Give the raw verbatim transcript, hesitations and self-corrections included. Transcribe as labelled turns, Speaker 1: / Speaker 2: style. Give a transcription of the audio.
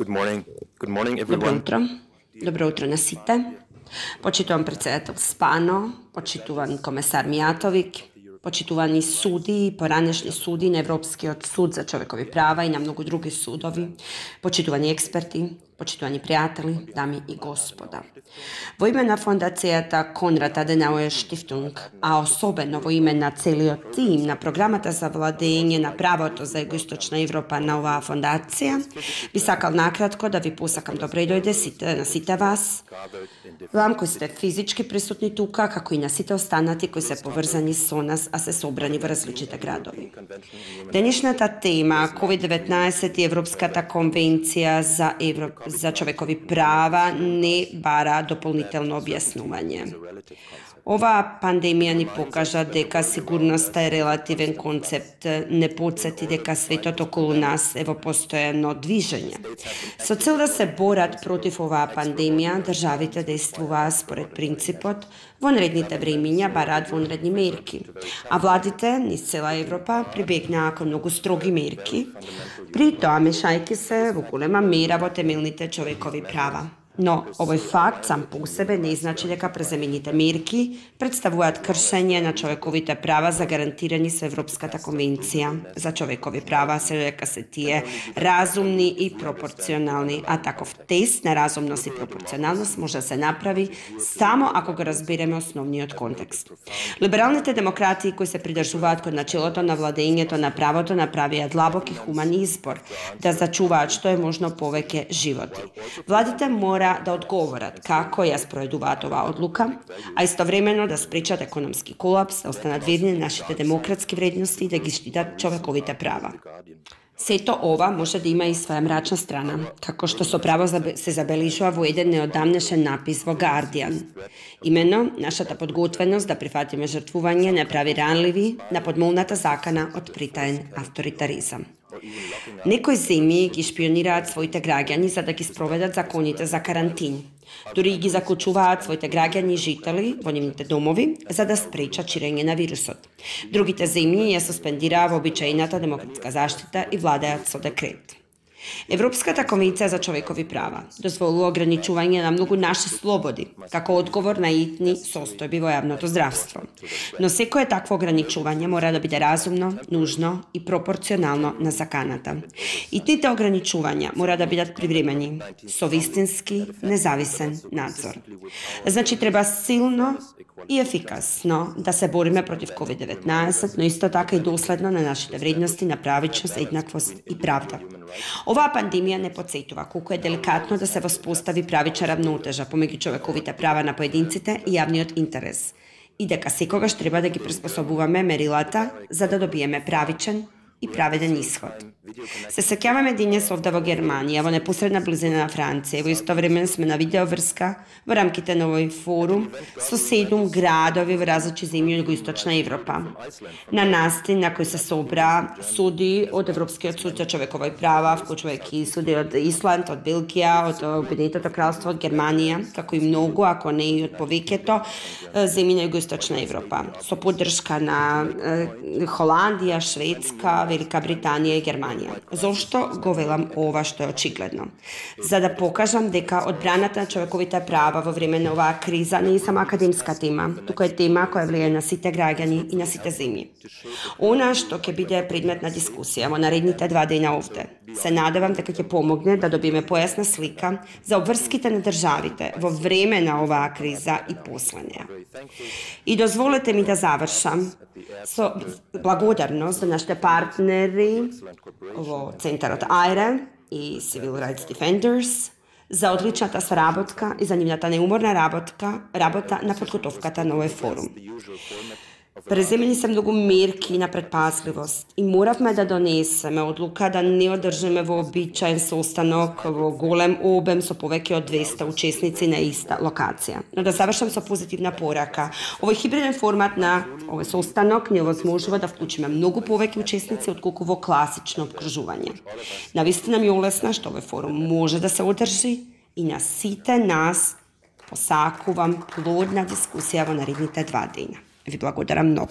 Speaker 1: Good morning. Good morning,
Speaker 2: Добро
Speaker 1: everyone.
Speaker 2: утро. Добро утро на сите. Почитуван председател Спано, почитуван комесар Мијатовик, почитувани суди и поранешни суди на Европскиот суд за човекови права и на многу други судови, почитувани експерти, почитувани пријатели, дами и господа. Во име на фондацијата Конрад Аденауер Штифтунг, а особено во име на целиот тим на програмата за владење на правото за Југоисточна Европа на оваа фондација, би сакал накратко да ви посакам добре дојде сите, на сите вас, вам кои сте физички присутни тука, како и на сите останати кои се поврзани со нас, а се собрани во различните градови. Денешната тема ковид деветнаесет и Европската конвенција за, Евро... за човекови права не бара дополнително објаснување. Оваа пандемија ни покажа дека сигурноста е релативен концепт, не потсети дека светот околу нас е во постојано движење. Со цел да се борат против оваа пандемија, државите действуваа според принципот вонредните времиња бараат вонредни мерки, а владите низ цела Европа прибегнаа кон многу строги мерки, при тоа мешајќи се во голема мера во темелните човекови права. Но овој факт сам по себе не значи дека преземените мерки представуваат кршење на човековите права загарантирани со Европската конвенција за човекови права, се дека се тие разумни и пропорционални, а таков тест на разумност и пропорционалност може да се направи само ако го разбереме основниот контекст. Либералните демократи кои се придржуваат кон начелото на владењето на правото направија длабок и хуман избор да зачуваат што е можно повеќе животи. Владите мора да одговорат како ја спроведуваат оваа одлука, а истовремено да спречат економски колапс, да останат верни на нашите демократски вредности и да ги штитат човековите права. Сето ова може да има и своја мрачна страна, како што со право се забележува во еден неодамнешен напис во Guardian. Имено, нашата подготвеност да прифатиме жртвување не прави ранливи на подмолната закана од притаен авторитаризам. Некои земји ги шпионираат своите граѓани за да ги спроведат законите за карантин. Дури ги заклучуваат своите граѓани и жители во нивните домови за да спречат ширење на вирусот. Другите земји ја суспендираа вообичаената демократска заштита и владеат со декрет. Европската конвенција за човекови права дозволува ограничување на многу наши слободи, како одговор на итни состојби во јавното здравство. Но секое такво ограничување мора да биде разумно, нужно и пропорционално на заканата. И тите ограничувања мора да бидат привремени, со вистински независен надзор. Значи, треба силно и ефикасно да се бориме против ковид деветнаесет, но исто така и доследно на нашите вредности на правичност, еднаквост и правда. Оваа пандемија не потсетува колку е деликатно да се воспостави правична равнотежа помеѓу човековите права на поединците и јавниот интерес и дека секогаш треба да ги приспособуваме мерилата за да добиеме правичен и праведен исход. Се сеќаваме денес овде во Германија, во непосредна близина на Франција, во исто време сме на видеоврска во рамките на овој форум со седум градови во различни земји од Југоисточна Европа. На настин на кој се собра суди од Европскиот суд за човекови права, вклучувајќи суди од Исланд, од Белгија, од Обединетото кралство, од Германија, како и многу, ако не и од повеќето земји на Југоисточна Европа, со поддршка на Холандија, Шведска, Велика Британија и Германија. Зошто го велам ова што е очигледно? За да покажам дека одбраната на човековите права во време на оваа криза не е само академска тема, туку е тема која влијае на сите граѓани и на сите земји. Она што ќе биде предмет на дискусија во наредните два дена овде, се надевам дека ќе помогне да добиеме појасна слика за обврските на државите во време на оваа криза и после неа. И дозволете ми да завршам со благодарност за нашите партнери во Центарот АЙРЕ и Civil Rights Defenders за одличната соработка и за нивната неуморна работка, работа на подготовката на овој форум. Преземени се многу мерки на предпазливост и моравме да донесеме одлука да не одржиме во обичаен состанок во голем обем со повеќе од двесте учесници на иста локација. Но да завршам со позитивна порака. Овој хибриден формат на овој состанок ни овозможува да вклучиме многу повеќе учесници отколку во класично обкружување. Навистина ми олесна што овој форум може да се одржи и на сите нас посакувам плодна дискусија во наредните два дена. Ви благодарам многу.